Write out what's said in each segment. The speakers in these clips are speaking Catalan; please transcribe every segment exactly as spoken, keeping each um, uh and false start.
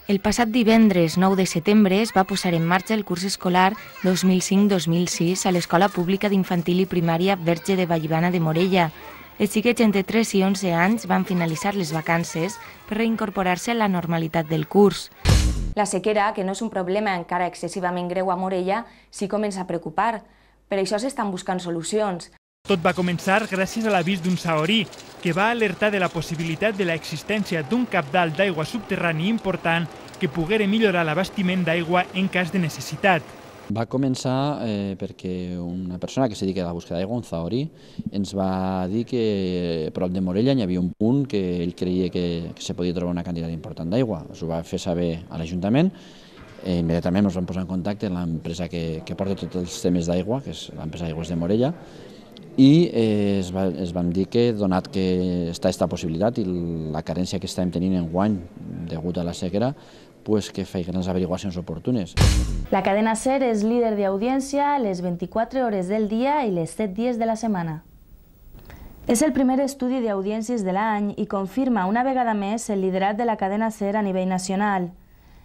El passat divendres nou de setembre es va posar en marxa el curs escolar dos mil cinc dos mil sis a l'Escola Pública d'Infantil i Primària Verge de Vallibana de Morella. Els xiquets entre tres i onze anys van finalitzar les vacances per reincorporar-se a la normalitat del curs. La sequera, que no és un problema encara excessivament greu a Morella, sí comença a preocupar. Per això s'estan buscant solucions. Tot va començar gràcies a l'avís d'un sahorí, que va alertar de la possibilitat de l'existència d'un cabdal d'aigua subterrani important que poguera millorar l'abastiment d'aigua en cas de necessitat. Va començar eh, perquè una persona que se dedica a la búsqueda d'aigua, un sahorí, ens va dir que a prop de Morella hi havia un punt que ell creia que, que se podia trobar una quantitat important d'aigua. Ens ho va fer saber a l'Ajuntament. Eh, immediatament ens vam posar en contacte amb l'empresa que, que porta tots els temes d'aigua, que és l'empresa Aigües de Morella, i eh, es, va, es vam dir que, donat que està aquesta possibilitat i la carència que estem tenint enguany degut a la sequera, pues que feien les averiguacions oportunes. La cadena SER és líder d'audiència les vint-i-quatre hores del dia i les set dies de la setmana. És el primer estudi d'audiències de l'any i confirma una vegada més el liderat de la cadena SER a nivell nacional.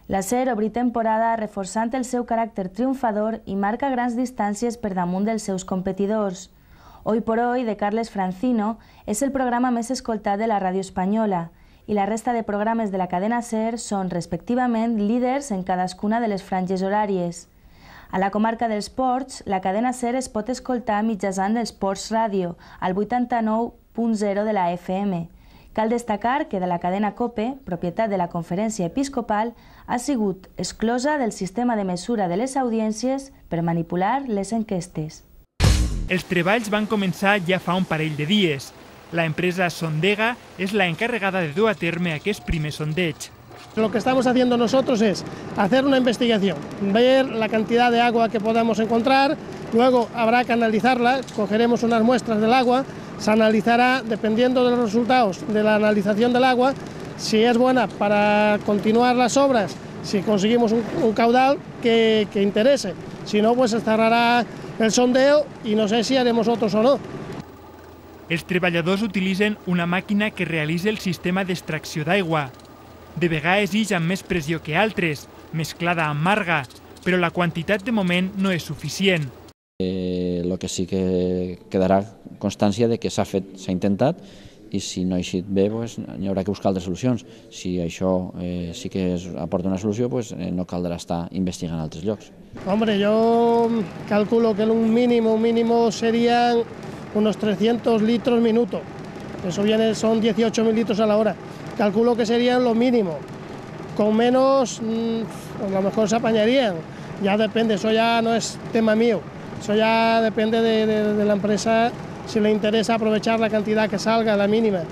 La SER obri temporada reforçant el seu caràcter triomfador i marca grans distàncies per damunt dels seus competidors. Hoy por Hoy, de Carles Francino, és el programa més escoltat de la ràdio espanyola i la resta de programes de la cadena SER són, respectivament, líders en cadascuna de les franges horàries. A la comarca dels Ports, la cadena SER es pot escoltar mitjançant els Ports Ràdio, al vuitanta-nou punt zero de la F M. Cal destacar que de la cadena COPE, propietat de la Conferència Episcopal, ha sigut exclosa del sistema de mesura de les audiències per manipular les enquestes. Els treballs van començar ja fa un parell de dies. La empresa Sondega es la encargada de dur a terme aquest primer sondeig. Lo que estamos haciendo nosotros es hacer una investigación, ver la cantidad de agua que podamos encontrar, luego habrá que analizarla, cogeremos unas muestras del agua, se analizará, dependiendo de los resultados de la analización del agua, si es buena para continuar las obras, si conseguimos un, un caudal que, que interese, si no, pues se cerrará el sondeo i no sé si haremos otros o no. Els treballadors utilitzen una màquina que realitza el sistema d'extracció d'aigua. De vegades ix amb més pressió que altres, mesclada amb marga, però la quantitat de moment no és suficient. Eh, lo que sí que quedarà constància de que s'ha fet, s'ha intentat, i si no ha eixit bé, pues, hi haurà que buscar altres solucions. Si això eh, sí que es aporta una solució, pues, eh, no caldrà estar investigant en altres llocs. Hombre, yo calculo que un mínimo, un mínimo serían unos trescientos litros minuto. Eso viene, son dieciocho mil litros a la hora. Calculo que serían lo mínimo. Con menos, mmm, a lo mejor se apañarían. Ya depende, eso ya no es tema mío. Eso ya depende de, de, de la empresa, si le interesa aprovechar la cantidad que salga, la mínima.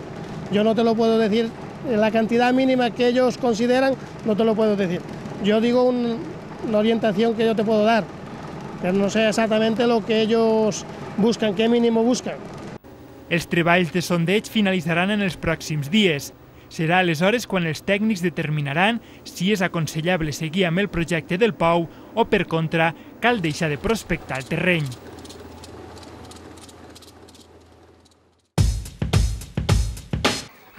Yo no te lo puedo decir, la cantidad mínima que ellos consideran, no te lo puedo decir. Yo digo un, una orientación que yo te puedo dar, pero no sé exactamente lo que ellos buscan, qué mínimo buscan. Els treballs de sondeig finalitzaran en els pròxims dies. Serà aleshores quan els tècnics determinaran si és aconsellable seguir amb el projecte del pou o, per contra, cal deixar de prospectar el terreny.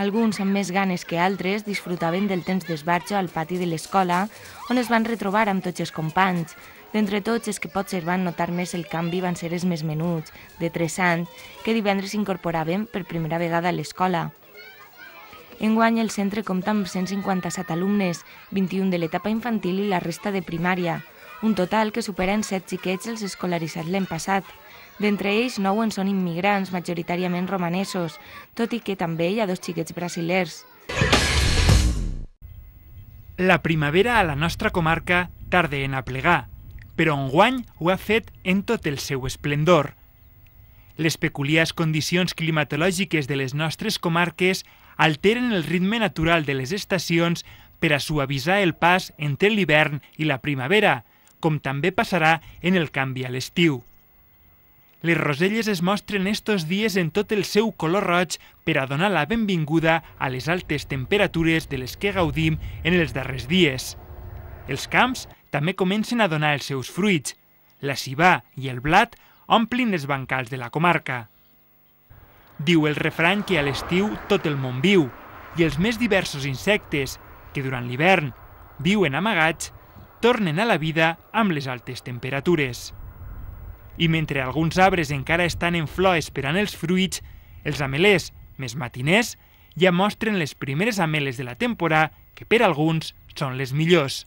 Alguns, amb més ganes que altres, disfrutaven del temps d'esbarjo al pati de l'escola, on es van retrobar amb tots els companys. D'entre tots els que potser van notar més el canvi van ser els més menuts, de tres anys, que divendres s'incorporaven per primera vegada a l'escola. Enguany el centre compta amb cent cinquanta-set alumnes, vint-i-un de l'etapa infantil i la resta de primària, un total que supera en set xiquets els escolaritzats l'any passat. D'entre ells, nou en són immigrants, majoritàriament romanesos, tot i que també hi ha dos xiquets brasilers. La primavera a la nostra comarca tarda en aplegar, però enguany ho ha fet en tot el seu esplendor. Les peculiars condicions climatològiques de les nostres comarques alteren el ritme natural de les estacions per a suavitzar el pas entre l'hivern i la primavera, com també passarà en el canvi a l'estiu. Les roselles es mostren estos dies en tot el seu color roig per a donar la benvinguda a les altes temperatures de les que gaudim en els darrers dies. Els camps també comencen a donar els seus fruits. La civà i el blat omplin les bancals de la comarca. Diu el refrany que a l'estiu tot el món viu, i els més diversos insectes, que durant l'hivern viuen amagats, tornen a la vida amb les altes temperatures. I mentre alguns arbres encara estan en flor esperant els fruits, els amelers, més matiners, ja mostren les primeres ameles de la temporada, que per alguns són les millors.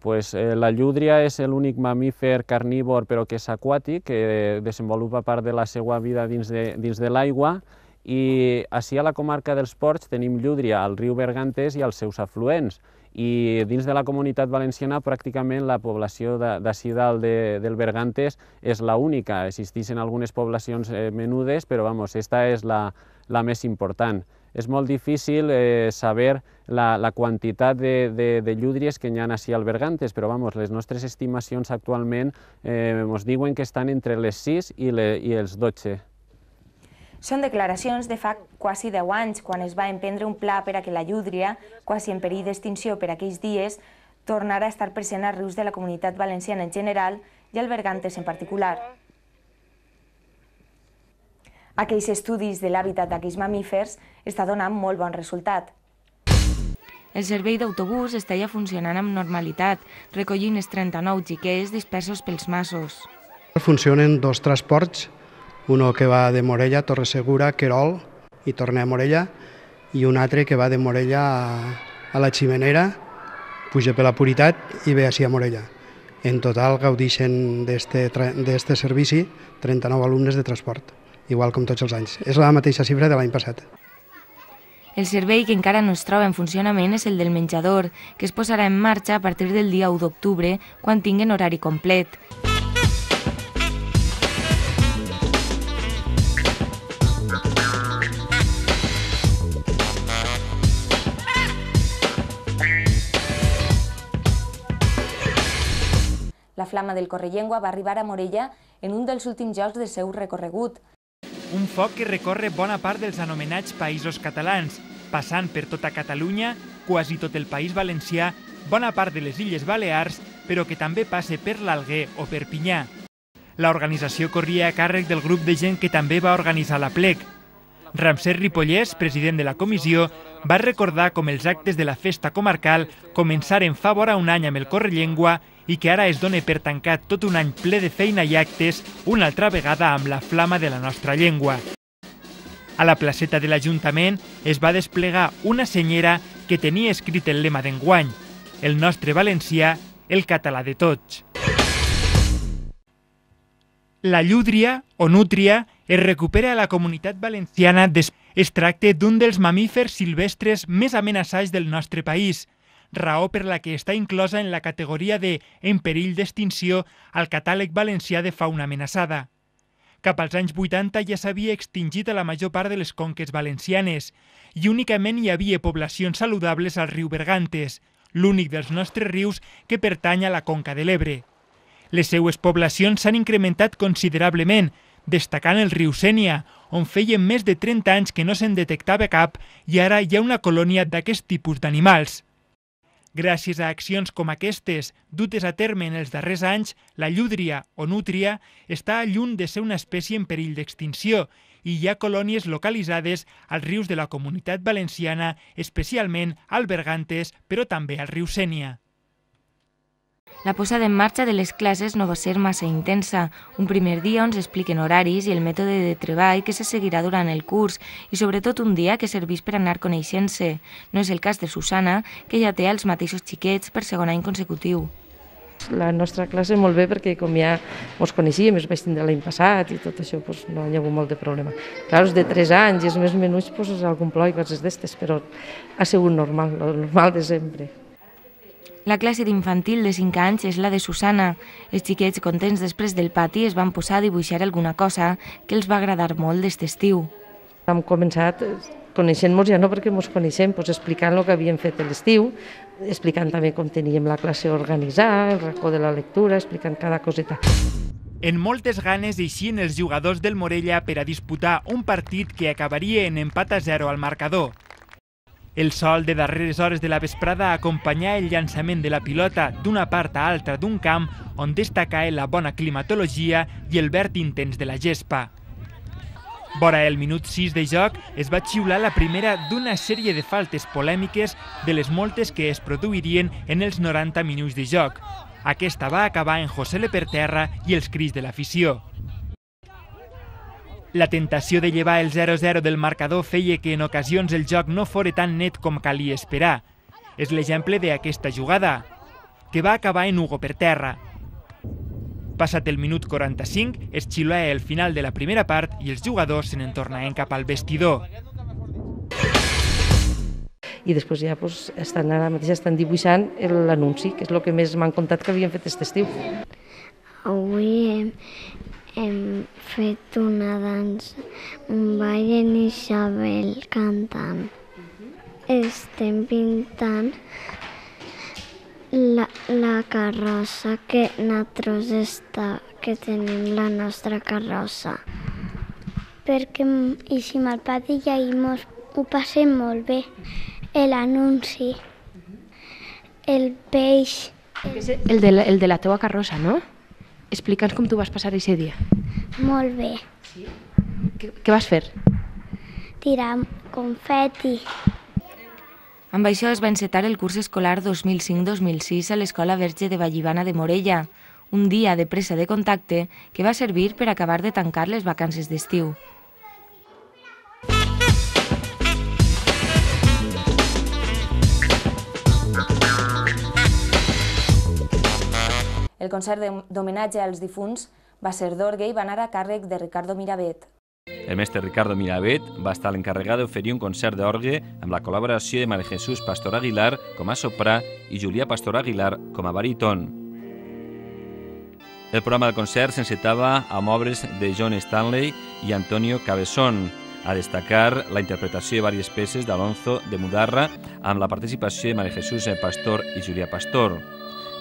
Pues, eh, la llúdria és l'únic mamífer carnívor però que és aquàtic, que desenvolupa part de la seva vida dins de, dins de l'aigua, i així a la comarca dels Ports tenim llúdria al riu Bergantes i als seus afluents, i dins de la Comunitat Valenciana pràcticament la població d'ací dalt de, del Bergantes és la única. Existeixen algunes poblacions eh, menudes, però vamos, esta és la, la més important. És molt difícil eh, saber la, la quantitat de, de, de llúdries que hi ha així al Bergantes, però vamos, les nostres estimacions actualment eh, ens diuen que estan entre les sis i, le, i els dotze. Són declaracions de fa quasi deu anys, quan es va emprendre un pla per a que la llúdria, quasi en perill d'extinció per aquells dies, tornara a estar present als rius de la Comunitat Valenciana en general i al Bergantes en particular. Aquells estudis de l'hàbitat d'aquells mamífers està donant molt bon resultat. El servei d'autobús està ja funcionant amb normalitat, recollint els trenta-nou xiquets dispersos pels masos. Funcionen dos transports, uno que va de Morella a Torre Segura, Querol, i torna a Morella, i un altre que va de Morella a, a la Ximenera, puja per la Puritat i ve així a Morella. En total gaudeixen d'aquest servici trenta-nou alumnes de transport, igual com tots els anys. És la mateixa xifra de l'any passat. El servei que encara no es troba en funcionament és el del menjador, que es posarà en marxa a partir del dia u d'octubre, quan tinguen horari complet. La flama del Correllengua va arribar a Morella en un dels últims jocs del seu recorregut. Un foc que recorre bona part dels anomenats països catalans, passant per tota Catalunya, quasi tot el País Valencià, bona part de les Illes Balears, però que també passa per l'Alguer o Perpinyà. L'organització corria a càrrec del grup de gent que també va organitzar l'aplec. Ramsès Ripollès, president de la comissió, va recordar com els actes de la festa comarcal començaren fa vora un any amb el Correllengua i que ara es dona per tancat tot un any ple de feina i actes, una altra vegada amb la flama de la nostra llengua. A la placeta de l'Ajuntament es va desplegar una senyera que tenia escrit el lema d'enguany: el nostre valencià, el català de tots. La llúdria, o nútria, es recupera a la Comunitat Valenciana. Es tracta d'un dels mamífers silvestres més amenaçats del nostre país, raó per la que està inclosa en la categoria de en perill d'extinció al catàleg valencià de fauna amenaçada. Cap als anys vuitanta ja s'havia extingit a la major part de les conques valencianes i únicament hi havia poblacions saludables al riu Bergantes, l'únic dels nostres rius que pertany a la conca de l'Ebre. Les seues poblacions s'han incrementat considerablement, destacant el riu Sénia, on feien més de trenta anys que no se'n detectava cap i ara hi ha una colònia d'aquest tipus d'animals. Gràcies a accions com aquestes, dutes a terme en els darrers anys, la llúdria o nútria està lluny de ser una espècie en perill d'extinció i hi ha colònies localitzades als rius de la Comunitat Valenciana, especialment al Bergantes, però també al riu Sénia. La posada en marxa de les classes no va ser massa intensa. Un primer dia on s'expliquen horaris i el mètode de treball que se seguirà durant el curs i sobretot un dia que serveix per anar coneixent-se. No és el cas de Susana, que ja té els mateixos xiquets per segon any consecutiu. La nostra classe molt bé perquè com ja ens coneixíem, es vaig tindre l'any passat i tot això doncs, no hi ha hagut molt de problema. Clar, els de tres anys i els més menuts doncs, és algun plor i coses d'estes, però ha sigut normal, el normal de sempre. La classe d'infantil de cinc anys és la de Susana. Els xiquets, contents després del pati, es van posar a dibuixar alguna cosa que els va agradar molt d'este estiu. Hem començat coneixent-nos ja no perquè ens coneixem, doncs explicant el que havíem fet l'estiu, explicant també com teníem la classe organitzada, el racó de la lectura, explicant cada coseta. En moltes ganes eixien els jugadors del Morella per a disputar un partit que acabaria en empat a zero al marcador. El sol de darreres hores de la vesprada acompanyà el llançament de la pilota d'una part a altra d'un camp on destacà la bona climatologia i el verd intens de la gespa. Vora el minut sis de joc es va xiular la primera d'una sèrie de faltes polèmiques de les moltes que es produirien en els noranta minuts de joc. Aquesta va acabar en Josele per terra i els crits de l'afició. La tentació de llevar el zero zero del marcador feia que en ocasions el joc no fora tan net com calia esperar. És l'exemple d'aquesta jugada, que va acabar en Hugo per terra. Passat el minut quaranta-cinc, es xiulà el final de la primera part i els jugadors se n'en tornaven cap al vestidor. I després ja pues, estan, ara mateix estan dibuixant l'anunci, que és el que més m'han contat que havien fet aquest estiu. Avui hem, hem fet una dansa, un ball en Isabel cantant. Estem pintant la, la carrossa que nosaltres està, que tenim la nostra carrossa. Perquè eixim al pati i ahir mos ho passem molt bé. L'anunci, el peix... El de, la, el de la teua carrossa, no? Explica'ns com tu vas passar aquest dia. Molt bé. Sí? Què, què vas fer? Tirar confeti. Amb això es va encetar el curs escolar dos mil cinc dos mil sis a l'Escola Verge de Vallibana de Morella, un dia de pressa de contacte que va servir per acabar de tancar les vacances d'estiu. El concert d'homenatge als difunts va ser d'orgue i va anar a càrrec de Ricardo Miravet. El mestre Ricardo Miravet va estar l'encarregat d'oferir un concert d'orgue amb la col·laboració de Maria Jesús Pastor Aguilar com a soprà i Julia Pastor Aguilar com a baríton. El programa del concert s'encetava amb obres de John Stanley i Antonio Cabezón, a destacar la interpretació de diverses peces d'Alonso de Mudarra amb la participació de Maria Jesús Pastor i Julia Pastor.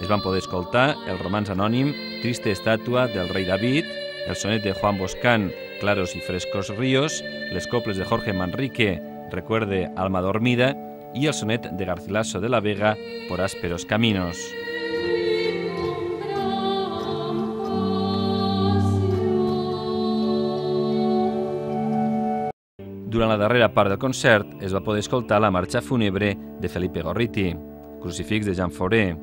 Es van poder escoltar el romanç anònim Triste estàtua del rei David, el sonet de Juan Boscán, Claros y frescos ríos, les coples de Jorge Manrique, Recuerde alma dormida, i el sonet de Garcilaso de la Vega, Por ásperos caminos. Durant la darrera part del concert es va poder escoltar la marxa fúnebre de Felipe Gorriti, Crucifix de Jean Fauré,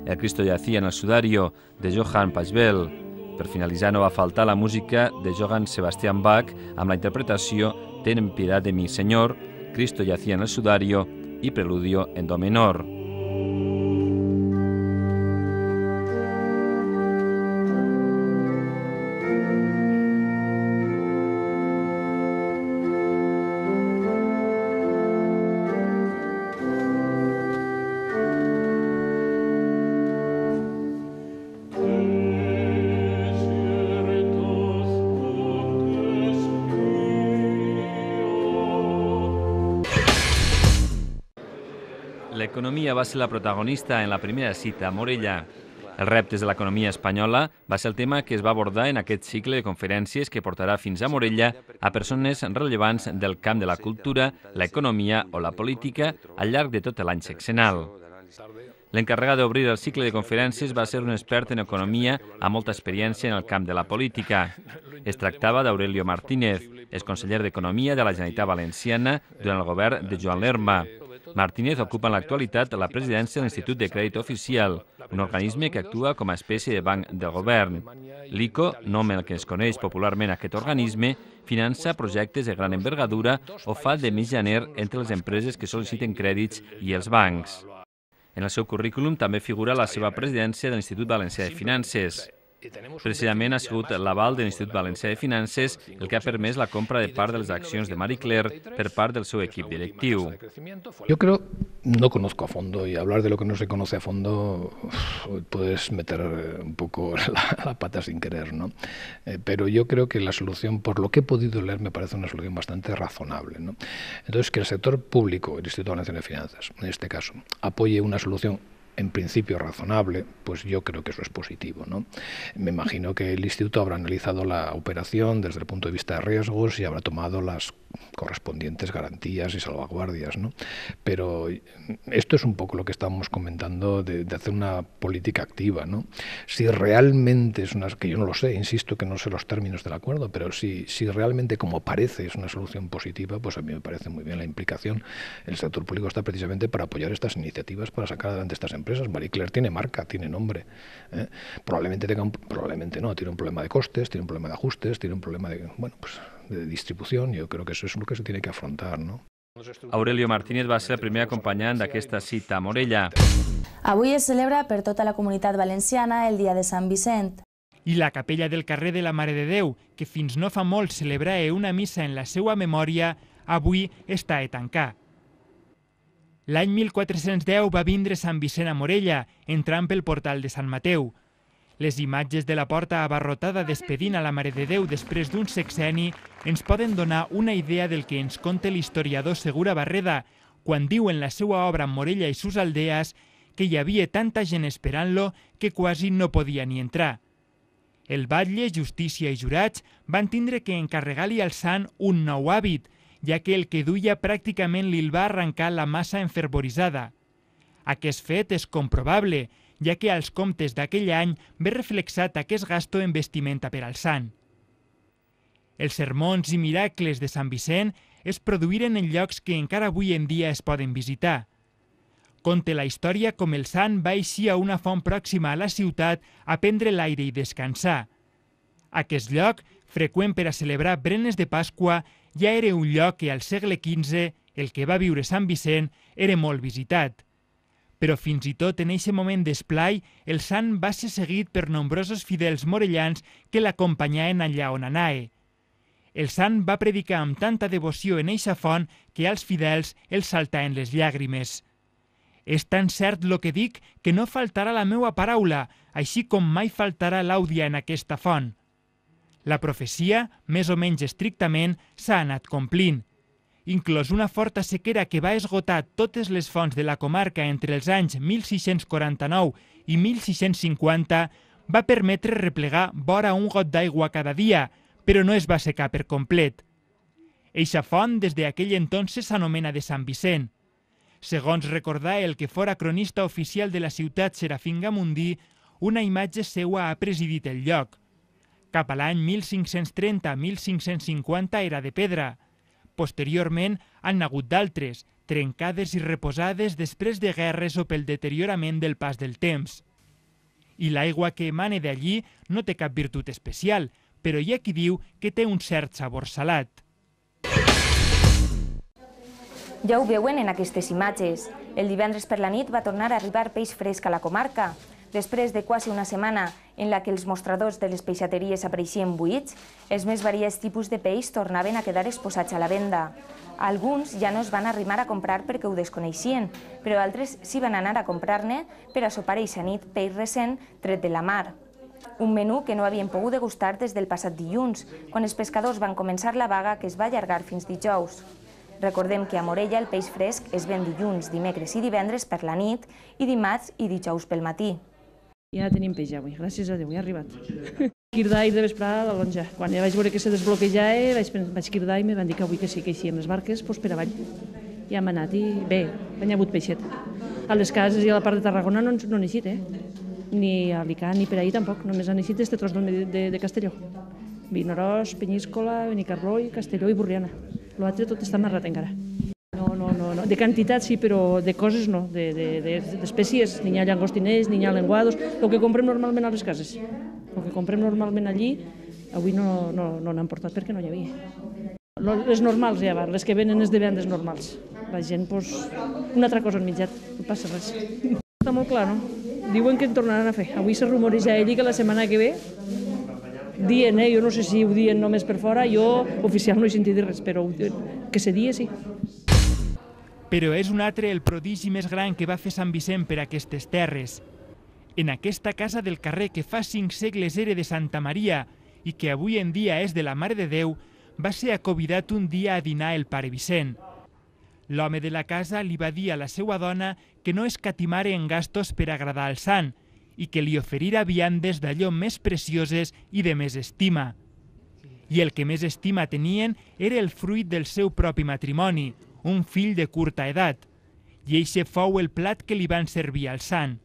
El Cristo yacía en el sudario de Johann Pachelbel. Per finalitzar no va faltar la música de Johann Sebastian Bach amb la interpretació Ten piedad de mi Señor, Cristo yacía en el sudario i Preludio en do menor. L'economia va ser la protagonista en la primera cita a Morella. Els reptes de l'economia espanyola va ser el tema que es va abordar en aquest cicle de conferències que portarà fins a Morella a persones rellevants del camp de la cultura, l'economia o la política al llarg de tot l'any sexenal. L'encarregat d'obrir el cicle de conferències va ser un expert en economia amb molta experiència en el camp de la política. Es tractava d'Aurelio Martínez, exconseller d'Economia de la Generalitat Valenciana durant el govern de Joan Lerma. Martínez ocupa en l'actualitat la presidència de l'Institut de Crèdit Oficial, un organisme que actua com a espècie de banc del govern. L'I C O, nom en el que es coneix popularment aquest organisme, finança projectes de gran envergadura o fa de mitjaner entre les empreses que sol·liciten crèdits i els bancs. En el seu currículum també figura la seva presidència de l'Institut Valencià de Finances. Precisament ha sigut l'aval de l'Institut Valencià de Finances el que ha permès la compra de part de les accions de Marie Claire per part del seu equip directiu. Yo creo, no conozco a fondo, y hablar de lo que no se conoce a fondo puedes meter un poco la, la pata sin querer, ¿no? Eh, pero yo creo que la solución, por lo que he podido leer, me parece una solución bastante razonable, ¿no? Entonces, que el sector público, el Instituto Valenciano de Finanzas, en este caso, apoye una solución en principio razonable, pues yo creo que eso es positivo, ¿no? Me imagino que el Instituto habrá analizado la operación desde el punto de vista de riesgos y habrá tomado las correspondientes garantías y salvaguardias, ¿no? Pero esto es un poco lo que estábamos comentando de, de hacer una política activa, ¿no? Si realmente es una, que yo no lo sé, insisto que no sé los términos del acuerdo, pero si, si realmente como parece es una solución positiva, pues a mí me parece muy bien la implicación. El sector público está precisamente para apoyar estas iniciativas, para sacar adelante estas empresas. Marie Claire tiene marca, tiene nombre, ¿eh? Probablemente tenga un, probablemente no, tiene un problema de costes, tiene un problema de ajustes, tiene un problema de, bueno, pues de distribución. Yo creo que eso es lo que se tiene que afrontar, ¿no? Aurelio Martínez va ser el primer acompanyant d'aquesta cita a Morella. Avui es celebra per tota la comunitat valenciana el dia de Sant Vicent. I la capella del carrer de la Mare de Déu, que fins no fa molt celebrava una missa en la seva memòria, avui està a tancar. L'any mil quatre-cents deu va vindre Sant Vicent a Morella, entrant pel portal de Sant Mateu. Les imatges de la porta abarrotada despedint a la Mare de Déu després d'un sexenni ens poden donar una idea del que ens conta l'historiador Segura Barreda quan diu en la seva obra Morella i sus aldees que hi havia tanta gent esperant-lo que quasi no podia ni entrar. El batlle, justícia i jurats van tindre que encarregar-li al sant un nou hàbit, ja que el que duia pràcticament li'l va arrencar la massa enfervoritzada. Aquest fet és comprovable, ja que als comptes d'aquell any ve reflexat aquest gasto en vestimenta per al sant. Els sermons i miracles de Sant Vicent es produïren en llocs que encara avui en dia es poden visitar. Conta la història com el sant va eixir a una font pròxima a la ciutat a prendre l'aire i descansar. Aquest lloc, freqüent per a celebrar berenes de Pasqua, ja era un lloc que al segle quinze, el que va viure Sant Vicent, era molt visitat. Però fins i tot en eixe moment d'esplai, el sant va ser seguit per nombrosos fidels morellans que l'acompanyaven allà on anava. El sant va predicar amb tanta devoció en eixa font que als fidels els saltaven les llàgrimes. És tan cert lo que dic que no faltarà la meua paraula, així com mai faltarà l'àudia en aquesta font. La profecia, més o menys estrictament, s'ha anat complint. Inclòs una forta sequera que va esgotar totes les fonts de la comarca entre els anys mil sis-cents quaranta-nou i mil sis-cents cinquanta, va permetre replegar vora un got d'aigua cada dia, però no es va secar per complet. Eixa font des d'aquell entonces s'anomena de Sant Vicent. Segons recordar el que fora cronista oficial de la ciutat Serafín Gamundí, una imatge seua ha presidit el lloc. Cap a l'any mil cinc-cents trenta a mil cinc-cents cinquanta era de pedra. Posteriorment han hagut d'altres, trencades i reposades després de guerres o pel deteriorament del pas del temps. I l'aigua que emana d'allí no té cap virtut especial, però hi ha qui diu que té un cert sabor salat. Ja ho veuen en aquestes imatges. El divendres per la nit va tornar a arribar peix fresc a la comarca. Després de quasi una setmana en la que els mostradors de les peixateries apareixien buits, els més variats tipus de peix tornaven a quedar exposats a la venda. Alguns ja no es van arrimar a comprar perquè ho desconeixien, però altres s'hi van anar a comprar-ne per a sopar eixa nit peix recent tret de la mar. Un menú que no havien pogut degustar des del passat dilluns, quan els pescadors van començar la vaga que es va allargar fins dijous. Recordem que a Morella el peix fresc es ven dilluns, dimecres i divendres per la nit i dimarts i dijous pel matí. Ja tenim peix avui, gràcies a Déu, ja ha arribat. Cridar i de vesprada a la lonja. Quan ja vaig veure que se desbloquejava, vaig, vaig cridar i me van dir que avui que sí que eixien les barques, doncs per avall. Ja hem anat i bé, hi ha hagut peixet. A les cases i a la part de Tarragona no, no han eixit, eh? Ni a Alicant ni per ahir tampoc, només han eixit este tros de, de, de Castelló. Vinaròs, Penyíscola, Benicarló i Castelló i Borriana. L'altre tot està narrat encara. No, no, no, no. De quantitat sí, però de coses no, d'espècies, de, de, n'hi ha llangostiners, n'hi ha lenguados, el que comprem normalment a les cases. El que comprem normalment allí, avui no no, no n'han portat perquè no hi havia. Les normals ja van, les que venen és de vendes normals. La gent, doncs, una altra cosa han mitjat, no passa res. Està molt clar, no? Diuen que en tornaran a fer. Avui se rumoreja allí que la setmana que ve dient, eh? Jo no sé si ho dient només per fora, jo oficial no he sentit res, però que se dia sí. Però és un altre el prodigi més gran que va fer Sant Vicent per aquestes terres. En aquesta casa del carrer que fa cinc segles era de Santa Maria i que avui en dia és de la Mare de Déu, va ser acomiadat un dia a dinar el pare Vicent. L'home de la casa li va dir a la seva dona que no escatimara en gastos per agradar al sant i que li oferira viandes d'allò més precioses i de més estima. i el que més estima tenien era el fruit del seu propi matrimoni, un fill de curta edat, i eixe fou el plat que li van servir al sant.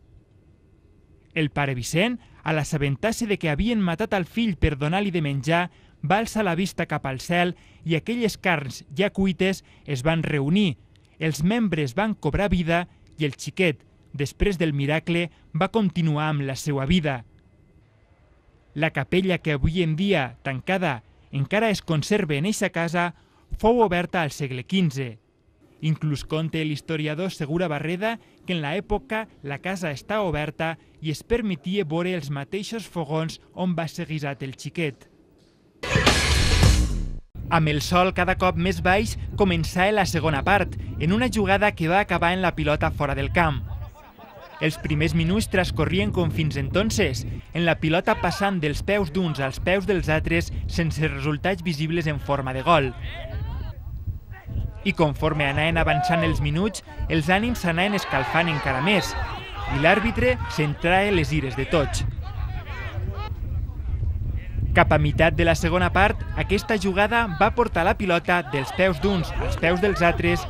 El pare Vicent, a l'assabentar-se de que havien matat al fill per donar-li de menjar, va alçar la vista cap al cel i aquelles carns ja cuites es van reunir, els membres van cobrar vida i el xiquet, després del miracle, va continuar amb la seva vida. La capella que avui en dia, tancada, encara es conserva en eixa casa, fou oberta al segle quinze. Inclús conta l'historiador Segura Barreda que en l'època la casa està oberta i es permetia veure els mateixos fogons on va ser guisat el xiquet. Amb el sol cada cop més baix començà la segona part, en una jugada que va acabar en la pilota fora del camp. Els primers minuts transcorrien com fins entonces, en la pilota passant dels peus d'uns als peus dels altres sense resultats visibles en forma de gol. I conforme anaven avançant els minuts, els ànims s'anaven escalfant encara més i l'àrbitre centrava les ires de tots. Cap a meitat de la segona part, aquesta jugada va portar la pilota dels peus d'uns als peus dels altres,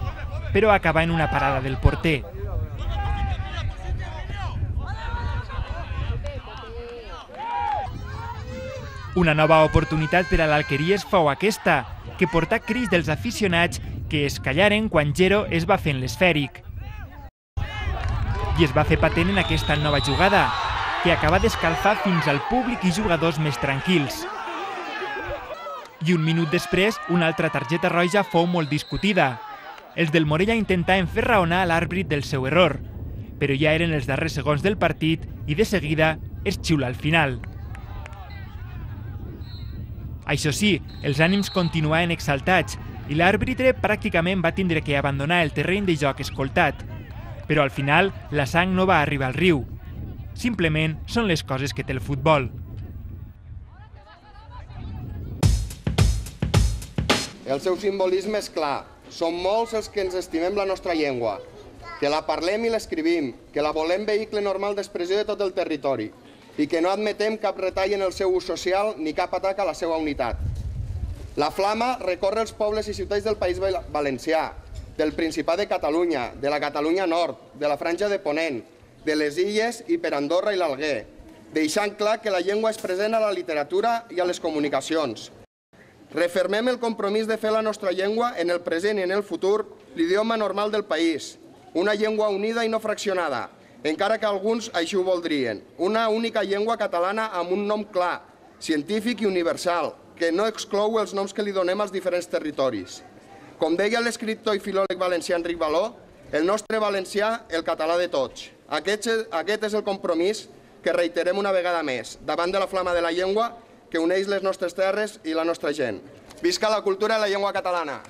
però acabà en una parada del porter. Una nova oportunitat per a l'Alqueries fou aquesta, que portà crits dels aficionats que es callaren quan Gero es va fent l'esfèric. I es va fer patent en aquesta nova jugada, que acaba d'escalfar fins al públic i jugadors més tranquils. I un minut després, una altra targeta roja fou molt discutida. Els del Morella intentaven fer raonar a l'àrbit del seu error, però ja eren els darrers segons del partit i de seguida es xiula al final. Això sí, els ànims continuaven exaltats i l'àrbitre pràcticament va tindre que abandonar el terreny de joc escoltat. Però al final la sang no va arribar al riu. Simplement són les coses que té el futbol. El seu simbolisme és clar. Som molts els que ens estimem la nostra llengua, que la parlem i l'escrivim, que la volem vehicle normal d'expressió de tot el territori i que no admetem cap retall en el seu ús social ni cap atac a la seva unitat. La flama recorre els pobles i ciutats del País Valencià, del Principat de Catalunya, de la Catalunya Nord, de la Franja de Ponent, de les Illes i per Andorra i l'Alguer, deixant clar que la llengua és present a la literatura i a les comunicacions. Refermem el compromís de fer la nostra llengua en el present i en el futur l'idioma normal del país, una llengua unida i no fraccionada, encara que alguns així ho voldrien, una única llengua catalana amb un nom clar, científic i universal, que no exclou els noms que li donem als diferents territoris. Com deia l'escriptor i filòleg valencià Enric Való, el nostre valencià, el català de tots. Aquest, aquest és el compromís que reiterem una vegada més, davant de la flama de la llengua que uneix les nostres terres i la nostra gent. Visca la cultura i la llengua catalana!